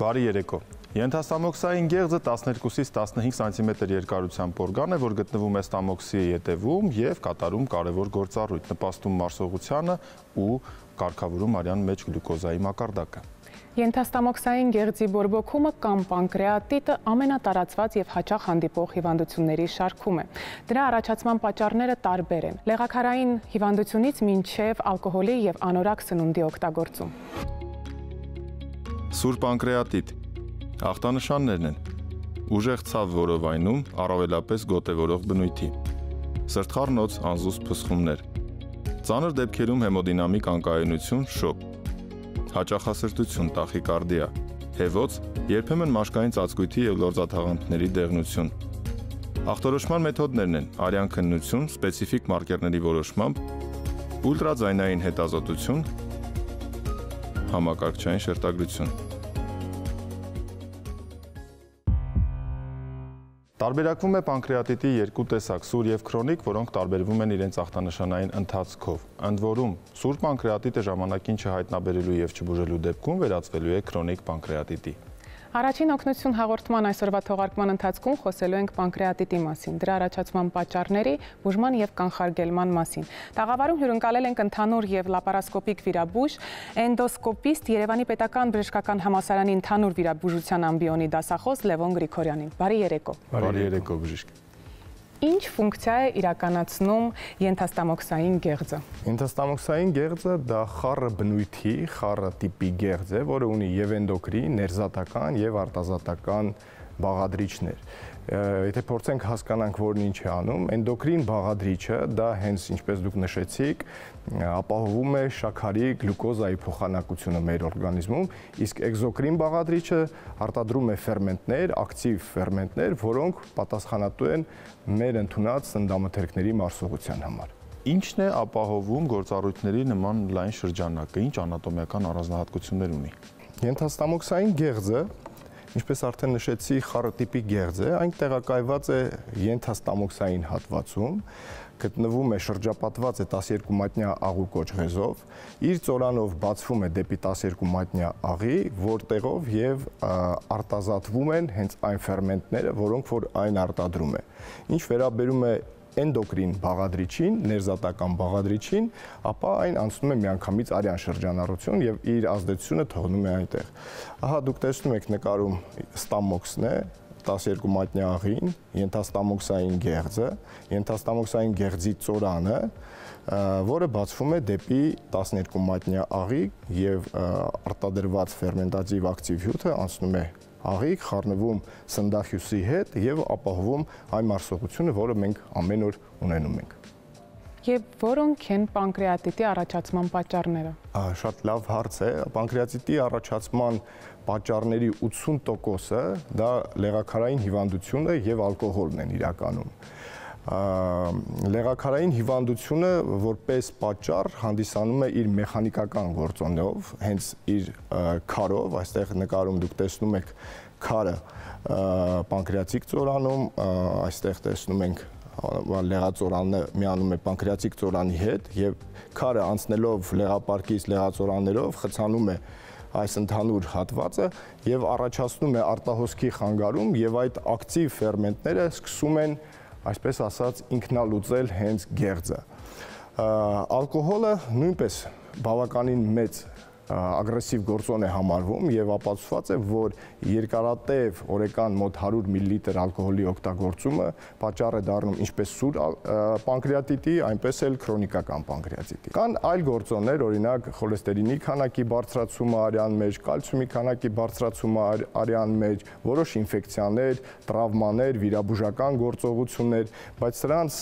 Բարի երեկո։ Ենթաստամոքսային գեղձը 12-ից 15 սանտիմետր երկարությամբ օրգան է, որ գտնվում է ստամոքսի ետևում և կատարում կարևոր գործառույթ, նպաստում մարսողությանը ու կարգավորում արյան մեջ գլյուկոզայի մակարդակը։ Ենթաստամոքսային գեղձի բորբոքումը կամ պանկրեատիտը ամենատարածված և հաճախ հանդիպող հիվանդությունների շարքում է։ Դրա առաջացման պատճառները տարբեր են՝ լեղաքարային հիվանդությունից մինչև ալկոհոլի և անորակ սնունդի օգտագործում։ Սուր պանկրեատիտ ախտանշաններն են՝ ուժեղ ցավ որովայնում, առավելապես գոտևորող բնույթի, սրտխառնոց անզուսպ փսխումներ, ծանր դեպքերում հեմոդինամիկ անկայունություն, շոկ, հաճախասրտություն, տախիկարդիա, հեվոց, երբեմն մաշկային ծածկույթի և լորձաթաղանթների դեղնություն։ Ախտորոշման մեթոդներն են արյան քննություն, սպეციფიկ մարկերների որոշմամբ, ուլտրաձայնային հետազոտություն, համակարգչային շերտագրություն։ Տարբերակվում է պանկրեատիտի երկու տեսակ՝ սուր և քրոնիկ, որոնք տարբերվում են իրենց ախտանշանային ընթացքով։ Ընդ որում, սուր պանկրեատիտը ժամանակին չհայտնաբերելու և չբուժելու դեպքում վերածվելու է քրոնիկ պանկրեատիտի։ Առաջին օգնություն հաղորդման այսօրվա թողարկման ընթացքում խոսելու ենք պանկրեատիտի մասին, դրա առաջացման պատճառների, բուժման և կանխարգելման մասին։ Տաղավարում հյուրընկալել ենք ընդհանուր և լապարասկոպիկ վիրաբույժ, էնդոսկոպիստ, Երևանի պետական բժշկական համալսարանի ընդհանուր վիրաբուժության ամբիոնի դասախոս Լևոն Գրիգորյանին։ Բարի երեկո։ Բարի երեկո, բժիշկ։ Ինչ ֆունկցիա է իրականացնում ենթաստամոքսային գեղձը։ Ենթաստամոքսային գեղձը դա խառը բնույթի, խառը տիպի գեղձ է, որը ունի եւ էնդոկրին, ներզատական եւ արտազատական բաղադրիչներ։ Եթե փորձենք հասկանանք, որն ինչ է անում, էնդոկրին բաղադրիչը դա հենց ինչպես դուք նշեցիք, ապահովում է շաքարի, գլյուկոզայի փոխանակությունը մեր օրգանիզմում, իսկ էկզոկրին բաղադրիչը արտադրում է ֆերմենտներ, ակտիվ ֆերմենտներ, որոնք պատասխանատու են մեր ընդունած սննդամթերքների մարսողության համար։ Ինչն է ապահովում գործառույթների նման լայն շրջանակը, ինչ անատոմիական առանձնահատկություններ ունի։ Ենթաստամոքսային գեղձը, ինչպես արդեն նշեցի, խառը տիպի գեղձ է, այն տեղակայված է ենթաստամոքսային հատվածում, գտնվում է շրջապատված է 12 մատնյա աղու կոճղեզով, իր ծորանով բացվում է դեպի 12 մատնյա աղի, որտեղով եւ արտազատվում են հենց այն ֆերմենտները, որոնք որ այն արտադրում է։ Ինչ վերաբերում է էնդոկրին բաղադրիչին, ներզատական բաղադրիչին, ապա այն անցնում է միանգամից արյան շրջանառություն եւ իր ազդեցությունը թողնում է այնտեղ։ Ահա դուք տեսնում եք նկարում ստամոքսն է, 12 մատնյա աղին, ենթաստամոքսային գեղձը, ենթաստամոքսային գեղձի ծորանը, որը բացվում է դեպի 12 մատնյա աղի եւ արտադրված ֆերմենտատիվ ակտիվ հյութը անցնում է աղիք, խառնվում սննդախյուսի հետ եւ ապահովում այն մարսողությունը, որը մենք ամեն օր ունենում ենք։ Եվ որոնք են պանկրեատիտի առաջացման պատճառները։ Շատ լավ հարց է։ Պանկրեատիտի առաջացման պատճառների 80%-ը դա լեղաքարային հիվանդությունը եւ ալկոհոլն են իրականում։ Լեղաքարային հիվանդությունը որպես պատճառ հանդիսանում է իր մեխանիկական գործոնով, հենց իր քարով, այստեղ նկարում դուք տեսնում եք քարը պանկրեատիկ ծորանում, այստեղ տեսնում ենք լեղածորանը միանում է պանկրեատիկ ծորանի հետ եւ քարը անցնելով լեղապարկից լեղածորաններով խցանում է այս ընդհանուր հատվածը եւ առաջացնում է արտահոսքի խանգարում եւ այդ ակտիվ ֆերմենտները սկսում են այսպես ասած ինքնալուծել հենց գեղձը։ Ալկոհոլը նույնպես բավականին մեծ ագրեսիվ գործոն է համարվում եւ ապացուցված է, որ երկարատև օրական մոտ 100 մլ ալկոհոլի օգտագործումը պատճառ է դառնում ինչպես սուր պանկրեատիտի, այնպես էլ քրոնիկական պանկրեատիտի։ Կան այլ գործոններ, օրինակ խոլեստերինի քանակի բարձրացումը արյան մեջ, կալցիումի քանակի բարձրացումը արյան մեջ, որոշ ինֆեկցիաներ, տրավմաներ, վիրաբուժական գործողություններ, բայց սրանց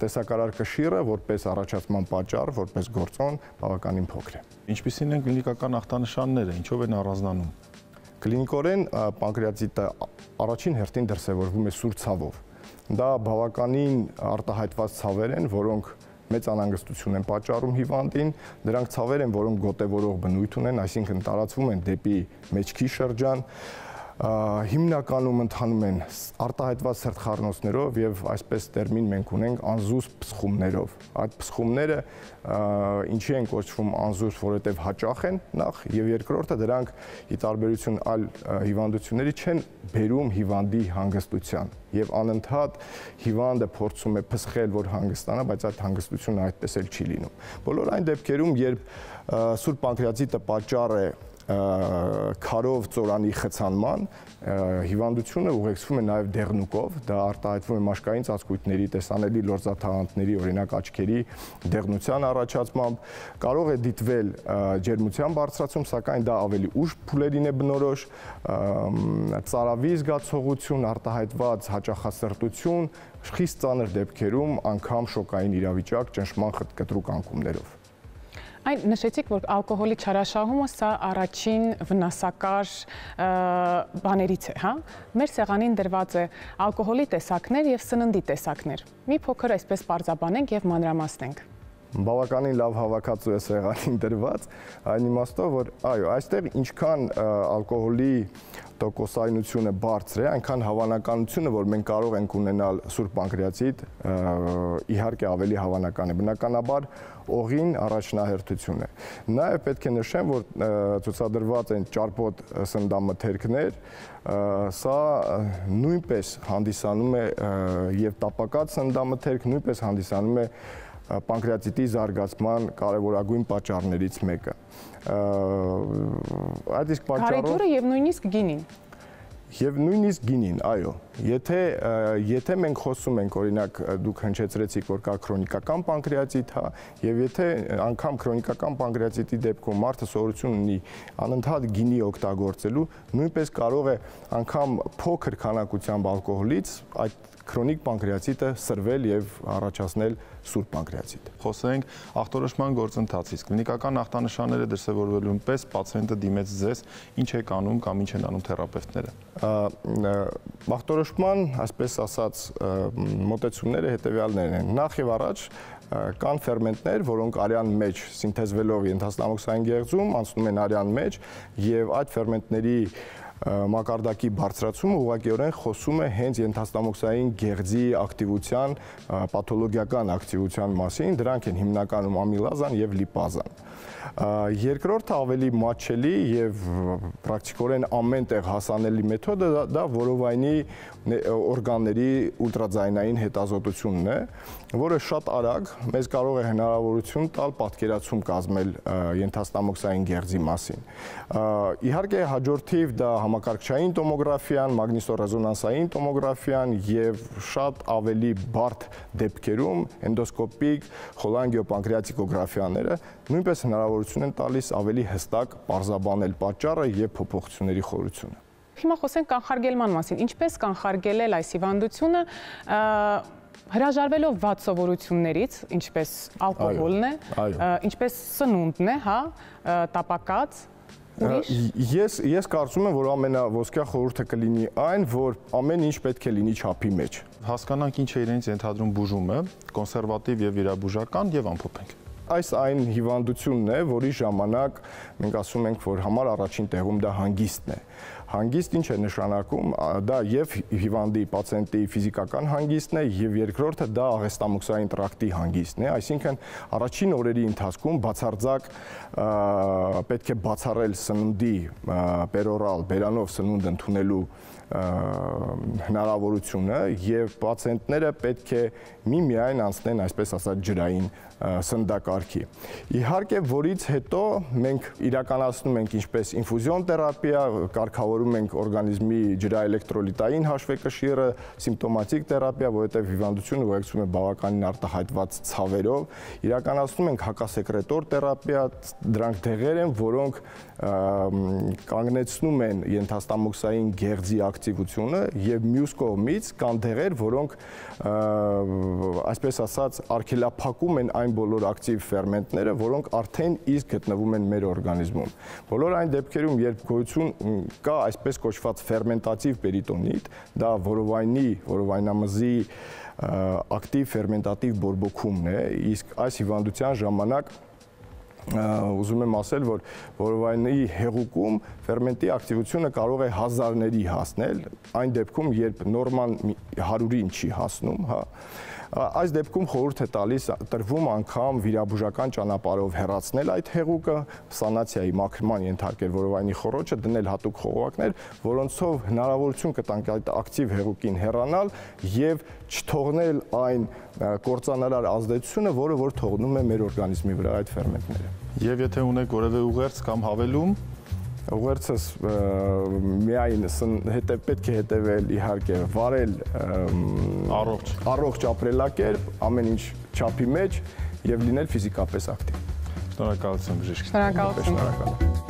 տեսակարար կշիռը որպես առաջացման պատճառ, որպես գործոն բավականին փոքր է։ Ինչպիսին են կլինիկական ախտանշանները, ինչով են առանձնանում։ Կլինիկորեն պանկրեատիտը առաջին հերթին դրսևորվում է սուր ցավով։ Դա բավականին արտահայտված ցավեր են, որոնք մեծ անհանգստություն են պատճառում հիվանդին, դրանք ցավեր են, որոնք գոտևորող բնույթ ունեն, այսինքն տարածվում են դեպի մեջքի շրջան, հիմնականում ընթանում են արտահայտված սրտխառնոցներով եւ այսպես տերմին մենք ունենք անզուսպ փսխումներով։ Այդ փսխումները ինչի են կոչվում անզուսպ, որովհետեւ հաճախ են նախ եւ երկրորդը դրանք ի տարբերություն այլ հիվանդությունների չեն բերում հիվանդի հանգստության եւ անընդհատ հիվանդը փորձում է փսխել, որ հանգստանա, բայց այդ հանգստությունը այդպես էլ չի լինում։ Բոլոր այն դեպքերում, երբ սուրբ պանկրեատիտը պատճառ է քարով ծորանի խցանման, հիվանդությունը ուղեկցվում է նաև դեղնուկով, դա արտահայտվում է մաշկային ծածկույթների, տեսանելի լորձաթաղանթների, օրինակ աչքերի դեղնության առաջացմամբ, կարող է դիտվել ջերմության բարձրացում, սակայն դա ավելի ուշ փուլերին է բնորոշ, ծարավի զգացողություն, արտահայտված հաճախասրտություն, խիստ ծանր դեպքերում անգամ շոկային իրավիճակ ճնշման կտրուկ անկումներով։ Այն նշեցիք, որ ալկոհոլի չարաշահումը սա առաջին վնասակար բաներից է, հա? Մեր սեղանին դրված է ալկոհոլի տեսակներ եւ սննդի տեսակներ։ Մի փոքր այսպես պարզաբանենք եւ մանրամասնենք։ Բավականին լավ հավաքածու է սեղանին դրված, այն իմաստով, որ այո, այստեղ ինչքան ալկոհոլի տոկոսայնությունը բարձր է, այնքան հավանականությունը, որ մենք կարող ենք ունենալ սուրբ պանկրեատիտ, իհարկե ավելի հավանական է։ Բնականաբար օղին առաջնահերթություն է։ Նաև պետք է նշեմ, որ ցուցադրված են ճարպոտ սննդամթերքներ, սա նույնպես հանդիսանում է եւ տապակած սննդամթերք նույնպես հանդիսանում է պանկրեատիտի զարգացման կարևորագույն պատճառներից մեկը։ Այդ իսկ պատճառով Գարեջուրը եւ նույնիսկ գինին։ Եվ նույնիսկ գինին, այո, եթե մենք խոսում ենք, օրինակ դուք հնչեցրեցիք, որ կա քրոնիկական պանկրեատիտ, հա, եւ եթե անգամ քրոնիկական պանկրեատիտի դեպքում մարդը սովորություն ունի անընդհատ գինի օգտագործելու, նույնպես կարող է անգամ փոքր քանակությամբ ալկոհոլից այդ քրոնիկ պանկրեատիտը սրվել եւ առաջացնել սուրբ պանկրեատիտ։ Խոսենք ախտորոշման գործընթացից։ Կլինիկական ախտանշանները դրսևորվելուն պես պացիենտը դիմեց ձեզ, ինչ եք անում կամ ինչ են անում թերապևտները։ Ախտորոշման, այսպես ասած, մոտեցումները հետեւյալներն են։ Նախ եւ առաջ կան ֆերմենտներ, որոնք արյան մեջ սինթեզվելով ենթաստամոքսային գեղձում անցնում են արյան մեջ եւ այդ ֆերմենտների մակարդակի բարձրացումը ուղղակիորեն խոսում է հենց ենթաստամոքսային գեղձի ակտիվության, պաթոլոգիական ակտիվության մասին, դրանք են հիմնականում ամիլազան եւ լիպազան։ Երկրորդը ավելի մատչելի եւ պրակտիկորեն ամեն տեղ հասանելի մեթոդը դա որովայնի օրգանների ուլտրաձայնային հետազոտությունն է, որը շատ արագ մեզ կարող է հնարավորություն տալ պատկերացում կազմել ենթաստամոքսային գեղձի մասին։ Իհարկե հաջորդիվ դա համակարգչային տոմոգրաֆիան, մագնիսոռեզոնանսային տոմոգրաֆիան եւ շատ ավելի բարդ դեպքերում էնդոսկոպիկ խոլանգիոպանկրեատիկոգրաֆիաները նույնպես հնարավորություն են տալիս ավելի հստակ պարզաբանել պատճառը եւ փոփոխությունների խորությունը։ Հիմա խոսենք կանխարգելման մասին։ Ինչպես կանխարգելել այս հիվանդությունը հրաժարվելով վատ սովորություններից, ինչպես ալկոհոլն է, ինչպես սնունդն է, հա, տապակած, Ես կարծում եմ, որ ամենաոսկյա խորհուրդը կլինի այն, որ ամեն ինչ պետք է լինի չափի մեջ։ Հասկանանք ինչ է իրենց ենթադրում բուժումը, կոնսերվատիվ եւ վիրաբուժական եւ ամփոփենք։ Այս այն հիվանդությունն է, որի ժամանակ մենք ասում ենք, որ համար առաջին տեղում դա հանգիստն է։ Հանգիստ ինչ է նշանակում, դա եւ հիվանդի պացիենտի ֆիզիկական հանգիստն է եւ երկրորդը դա աղեստամոքսային տրակտի հանգիստն է, այսինքն առաջին օրերի ընթացքում բացարձակ պետք է բացառել սննդի պերորալ բերանով սնունդ ընդունելու հնարավորությունը եւ պացիենտները պետք է միմիայն անցնեն, այսպես ասած, ջրային սննդակարգի։ Իհարկե, որից հետո մենք իրականացնում ենք ինչպես ինֆուզիոն թերապիա, կարգավորում ենք օրգանիզմի ջրաէլեկտրոլիտային հաշվեկշիռը, սիմպտոմատիկ թերապիա, որովհետեւ հիվանդությունը ուղեկցում է բավականին արտահայտված ցավերով, իրականացնում ենք հակասեկրետոր թերապիա, դրանք դեղեր են, որոնք կանգնեցնում են ենթաստամոքսային գեղձի ակտիվությունը եւ մյուս կողմից կան դեղեր, որոնք այսպես ասած արգելափակում են այն բոլոր ակտիվ ֆերմենտները, որոնք արդեն իսկ գտնվում են մեր օրգանիզմում։ Բոլոր այն դեպքերում, երբ գոյություն կա այսպես կոչված ֆերմենտատիվ պերիտոնիտ, դա որովայնամզի ակտիվ ֆերմենտատիվ բորբոքումն է, իսկ այս հիվանդության ժամանակ ուզում եմ ասել, որ որովայնի հեղուկում ֆերմենտի ակտիվությունը կարող է հազարների հասնել, այն դեպքում, երբ նորման 100-ին չի հասնում, հա, այս դեպքում խորհուրդ է տրվում անգամ վիրաբուժական ճանապարհով հեռացնել այդ հեղուկը, սանացիայի մաքրման ենթարկել որովայնի խոռոչը, դնել հատուկ խողովակներ, որոնցով հնարավորություն կտանք այդ ակտիվ հեղուկին հեռանալ եւ չթողնել այն կործանարար ազդեցությունը, որը որ թողնում է մեր օրգանիզմի վրա այդ ֆերմենտները։ Եվ եթե ունեք որևէ ուղերձ կամ հավելում, ուղերձս միայն պետք է հետևել իհարկե վարել առողջ ապրելակերպ, ամեն ինչ չափի մեջ եւ լինել ֆիզիկապես ակտիվ։ Շնորհակալություն բժիշկ։ Շնորհակալություն։